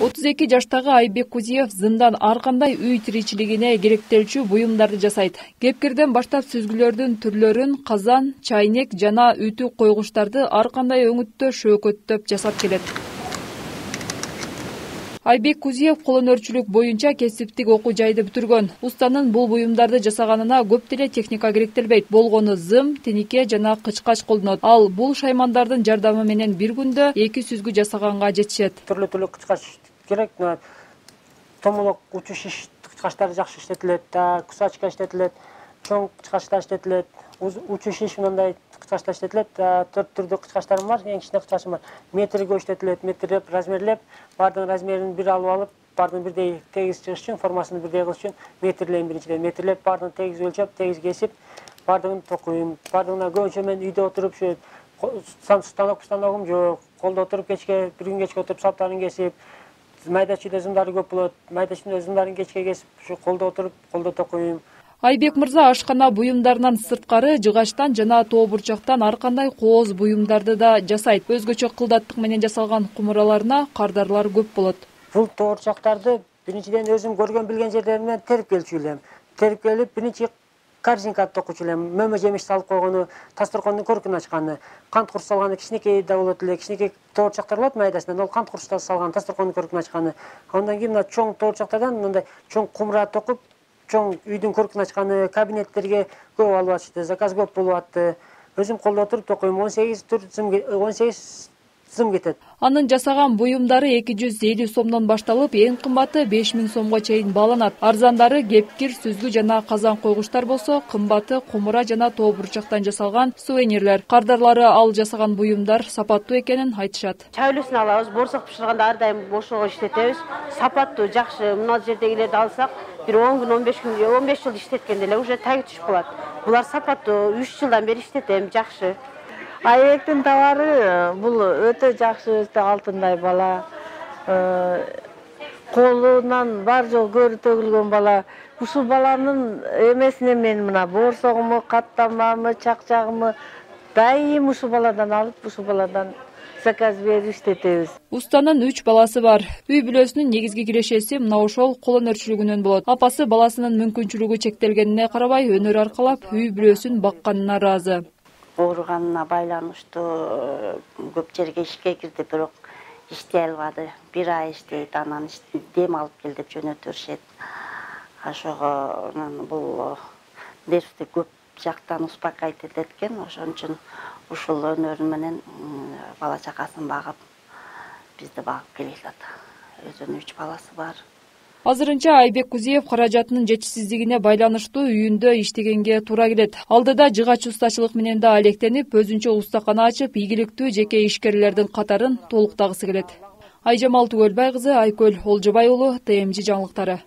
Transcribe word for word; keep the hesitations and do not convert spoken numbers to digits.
отуз эки жаштагы Айбек Кузиев зындан ар кандай үй тиричилигине керектелчү буюмдарды жасайт. Кепкирден баштап сүзгүлөрдүн түрлөрүн, казан, чайнек жана үтү койгучтарды ар кандай өңүттө шөөкөттөп жасап келет. Айбек Кузиев колөнөрчүлүк боюнча кесиптик окуу жайды бүтүргөн. Устанын бул буюмдарды жасаганына көп деле техника керектелбейт. Болгону зым, тенике жана кычкач колдонот. Ал бул шаймандардын жардамы менен бир күндө эки сүзгү жасаганга жетишет. Түрлүү түрлүү кычкач керек. Томолок учу шиш кычкачтары жакшы иштетилет, кусачка иштетилет, чоң кычкачтар иштетилет, учу шиш мындай кычкачтар иштетилет. Төрт түрдүү кычкачтарым бар, эң кичине кычкачым бар. Метрге иштетилет, метрлеп, размерлеп, бардын размерин бир алып алып, бардын бирдей тегиз чыгыш үчүн, формасын бирдей кылыш үчүн метрлейм биринчиден. Метрлеп, бардын тегиз өлчөп, тегиз кесип, бардыгын токуйм. Бардыгына көбүнчө мен үйдө отуруп, станок станогум жок, колдо отуруп кечке, бир күн кечке отуруп салптарын кесип, майда чүйдө зымдары көп болот. Майда чүйдө зымдарын кечке кесип, ушу колдо отуруп, колдо токуйм. Айбек мырза ашкана буюмдарынан сырткары жыгачтан жана тоо бурчактан ар кандай кооз буюмдарды да жасайт. Өзгөчө кылдаттык менен жасалган кумураларына кардарлар көп болот. Бул тоо бурчактарды биринчиден өзүм көргөн билген жерлеримден терип келчү элем. Терип келип, биринчи корзинка токучу элем. Мөмө жемиш салып койгону, тасторкондун көркүн ачканы, кант курч салганы кичинекей да болот эле. Кичинекей тоо бурчактар болот майдасынан, ол кант курчтан салган, тасторкондун көркүн ачканы. Андан кийин мына чоң тоо бурчактардан мындай чоң кумура токуп, чоң үйдүн көркүн ачканы, кабинеттерге көп алып атышты, заказ көп болуп атты. Өзүм колдо отуруп токуйм, он сегиз түр зым, он сегиз зым кетет. Анын жасаган буюмдары эки жүз элүү сомдон башталып, эң кымбаты беш миң сомго чейин бааланат. Арзандары кепкир, сүзгү жана казан койгучтар болсо, кымбаты кумура жана тоо бурчактан жасалган сувенирлер. Кардарлары ал жасаган буюмдар сапаттуу экенин айтышат. Чай үлүсүн алабыз, боорсок бышырганда ар дайым бошого иштетебиз. Сапаттуу, жакшы. Мына жердегилерди алсак, бир он күн, он беш күн, он беш жыл иштеткенде эле уже таги түшүп калат. Булар сапаттуу, үч жылдан бери иштетем, жакшы. Айбектин товары бул өтө жакшы, өтө алтындай бала. Колунан бар жол көрү төгүлгөн бала. Ушул баланын эмесине мен мына боорсогуму, каттамамы, чакчагымы дайым ушул баладан алып, ушул баладан заказ берип иштетебиз. Устанын үч баласы бар. Үй бүлөсүнүн негизги кирешеси мына ошол колөнөрчүлүгүнөн болот. Апасы баласынын мүмкүнчүлүгү чектелгенине карабай өнөр аркалап үй бүлөсүн бакканына ыраазы. Ооруганына байланыштуу көп жерге ишке кирди, бирок иштей албады. Бир ай иштейт, анан дем алып кел деп жөнөтүп беришет. Ошого бул нервди көп жактан успокоить эткен, ошон үчүн ушул өнөрү менен бала чакасын багып, бизди багып келет. Өзүнүн үч баласы бар. Азырынча Айбек Кузиев каражатынын жетишсиздигине байланыштуу үйүндө иштегенге туура келет. Алдыда жыгач устачылык менен да алектенип, өзүнчө устакана ачып, ийгиликтүү жеке ишкерлердин катарын толуктагысы келет. Айжамал Түгөлбай кызы, Айкөл Олжобай уулу, Т М Ж жаңылыктары.